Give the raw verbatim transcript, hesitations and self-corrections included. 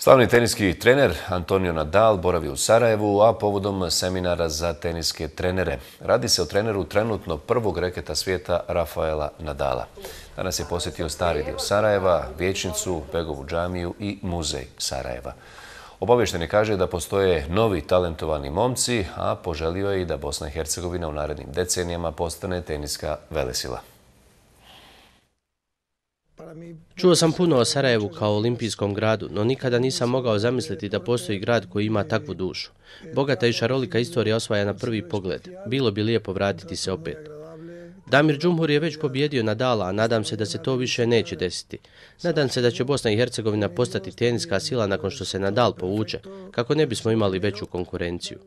Slavni teniski trener Antonio Nadal boravi u Sarajevu, a povodom seminara za teniske trenere. Radi se o treneru trenutno prvog reketa svijeta Rafaela Nadala. Danas je posjetio stari dio Sarajeva, vijećnicu, Begovu džamiju i muzej Sarajeva. Obavješten je kaže da postoje novi talentovani momci, a poželio je i da Bosna i Hercegovina u narednim decenijama postane teniska velesila. Čuo sam puno o Sarajevu kao olimpijskom gradu, no nikada nisam mogao zamisliti da postoji grad koji ima takvu dušu. Bogata i šarolika istorija osvaja na prvi pogled. Bilo bi lijepo vratiti se opet. Damir Džumhur je već pobjedio Nadala, a nadam se da se to više neće desiti. Nadam se da će Bosna i Hercegovina postati teniska sila nakon što se Nadal povuče, kako ne bismo imali veću konkurenciju.